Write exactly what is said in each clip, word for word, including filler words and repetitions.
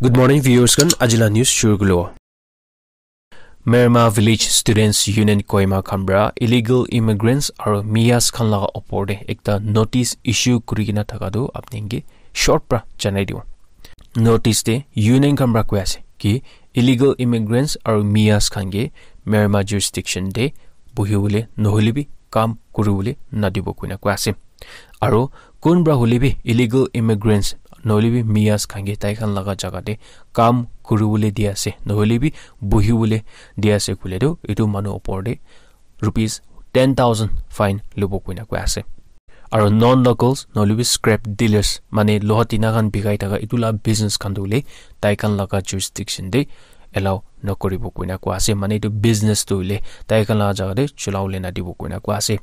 Good morning, viewers khan. Ajila news shuru kulo. Merma Village Students Union Kohima khan pra illegal immigrants aru miyas khan laga opor te ekta notice issue kuri kena thaka tu apni ke short pra janai dibo. Notice te union khan pra koi ase ki illegal immigrants aru miyas khan ke Merma jurisdiction te bohi bole nohole bi kam kuri bole nadibo koina koi ase. Aru kun pra hole bi illegal immigrants nohole bi miyas khan ke tai khan laga jaga te kam kuri bole di ase, nohole bi bohi bole di ase koile tu etu manu opor te rupees ten thousand fine lobo koina koi ase. Aru non locals nohole bi scrap dealers, mane loha tina khan bikai thaka etu la business khan tu hoile tai khan laga jurisdiction te allow nokoribo koina koi ase, mane etu business tu hoile tai khan laga jaga te chula bole nadibo koina koi ase.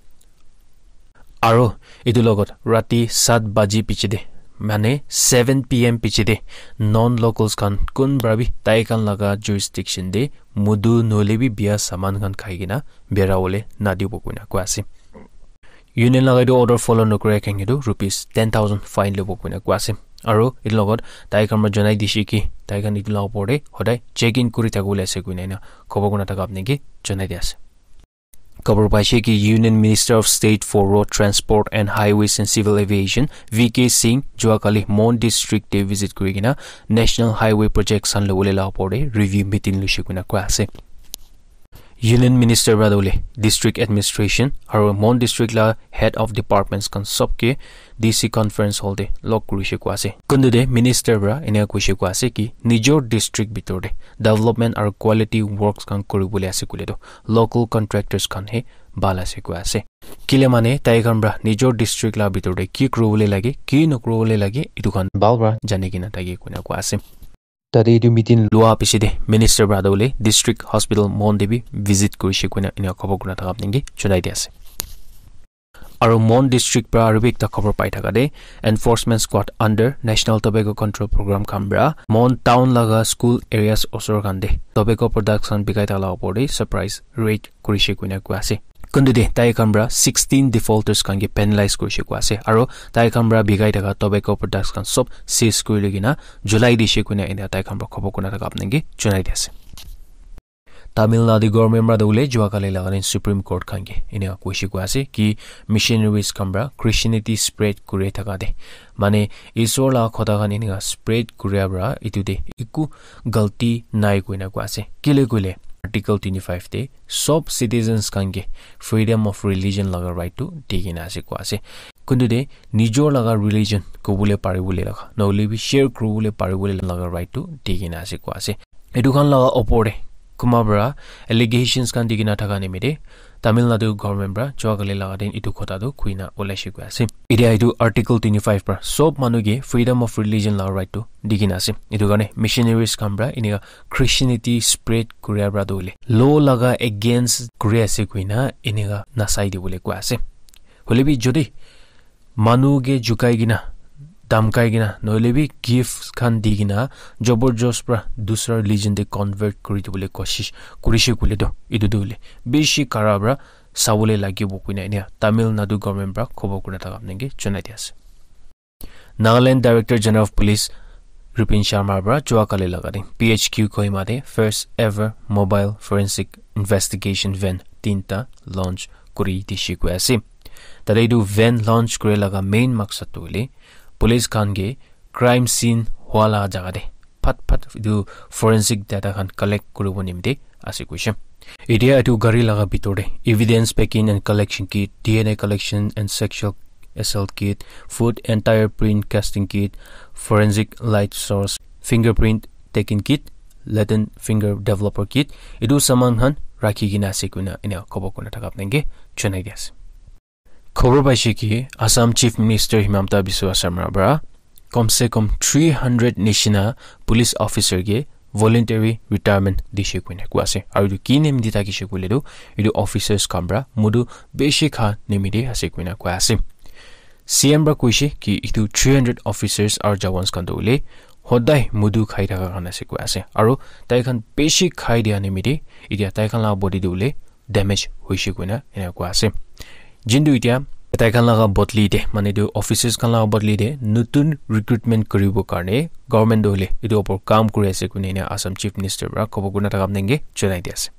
Aro etu logot rati sat baji piche de, mane seven P M piche de non locals khan kun pra bi tai khan laga jurisdiction de mudu nohole bi biya saman khan khai kena bera bole nadibo koina koi ase. Union laga etu order follow nokora khan etu rupees ten thousand fine lobo koina koi ase. Aro etu logot tai khan pra janai dishe ki tai khan etu la opor de hodai check in kuri thakibole ase koina ena khobor kurna thaka apni ke janai di ase. Khobor paise ki Union Minister of State for Road Transport and Highways and Civil Aviation, V K Singh, jua kali Mon District te visit kuri kena National Highway Projects khan lobole la opor te review meeting luishe koina koi ase. Union Minister pra tu hoile District Administration aru Mon District la Head of Departments khan sob ke D C Conference Hall te log kurishe koi ase. Kuntu te Minister pra ena kuishe koi ase ki nijor district bitor te development aru quality works khan kuribole ase koile tu local contractors khan he bhal ase koi ase. Kile mane tai khan pra nijor district la bitor te ki kuribole lage, ki nokuribole lage, etu khan bhal pra jani kena thake koina koi ase. Tate etu meeting lua piche te Minister pra tu hoile District Hospital Mon te bi visit kurishe koina ena khobor kurna thaka apni ke janai di ase. Aru Mon District pra aru bi ekta khobor pai thaka te Enforcement Squad under National Tobacco Control Program khan pra Mon Town laga school areas osor khan te tobacco products khan bikai thaka la opor te surprise raid kurishe koina koi ase. Kuntu te tai khan pra sixteen defaulters khan ke penalize kurishe koi ase. Aro tai khan pra bikai thaka tobacco products khan sob seize kuri loi kena julai dishe koina ena tai khan pra khobor kurna thaka apni ke janai di ase. Tamil Nadu government pra tu hoile jua kali laga din Supreme Court khan ke ena kuishe koi ase ki missionaries khan pra Christianity spread kuri thaka te mane Isor la khota khan eneka spread kuria pra etu te eku galti nai koina koi ase. Kile koile Article twenty-five te sob citizens khan ke freedom of religion laga right tu di kena ase koi ase. Kuntu te nijor laga religion kobole paribole laga, nohole bi share kuribole paribole laga right tu di kena ase koi ase. Etu khan laga opor te kunba pra allegations khan di kena thaka nimite Tamil Nadu government pra jua kali laga din etu khota tu khuina olaishe koi ase. Etia etu Article twenty-five pra sob manu ke freedom of religion laga right tu di kena ase. Etu karne missionaries khan pra eneka Christianity spread kuria pra tu hoile law laga against kuri ase koina eneka nasai dibole koi ase. Hoile bi jodi manu ke jukai kena, damkai kena, nohole bi gifts khan di kena, jabardast pra dusra religion te convert kuri dibole koshish kurishe koile tu, etu tu hoile bishi kara pra sabole lagibo koina ena Tamil Nadu government pra khobor kurna thaka apni ke janai di ase. Nagaland Director General of Police Rupin Sharma pra jua kali laga din P H Q Kohima te first ever mobile forensic investigation van tinta launch kuri dishe koi ase. Tate etu van launch kuri laga main maksad tu hoile police khan ke crime scene hua la jaga te phat phat etu forensic data khan collect kuribo nimite ase koishe. Etia etu gari laga bitor te evidence packing and collection kit, D N A collection and sexual assault kit, foot and tire print casting kit, forensic light source, fingerprint taking kit, latent finger developer kit, etu saman khan rakhi kena ase koina ena khobor kurna thaka apni ke janai di ase. Khobor paishe ki Assam Chief Minister Himanta Biswa Sarma pra kom se kom three hundred nishina police officer ke voluntary retirement dishe koina koi ase. Aru etu ki nimite thakishe koile tu etu officers khan pra mudu bishi kha nimite ase koina koi ase. C M pra koishe ki etu three hundred officers aru jawans khan tu hoile hodai mudu khai thaka khan ase koi ase. Aru tai khan bishi khai dia nimite etia tai khan la body tu hoile damage hoishe koina ena koi ase. Jintu etia Tai khan laga bodli te, mane etu officers khan laga bodli te notun recruitment kuribo karne government tu hoile etu opor kam kuri ase koina Assam Chief Minister para khobor kurina thaka apni ke janai di ase.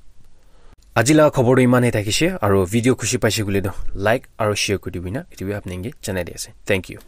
Aji laga khobor tu iman he thakise, aru video khushi paise koile tu like aru share kuri dibina, etu bi apni ke janai di ase. Thank you.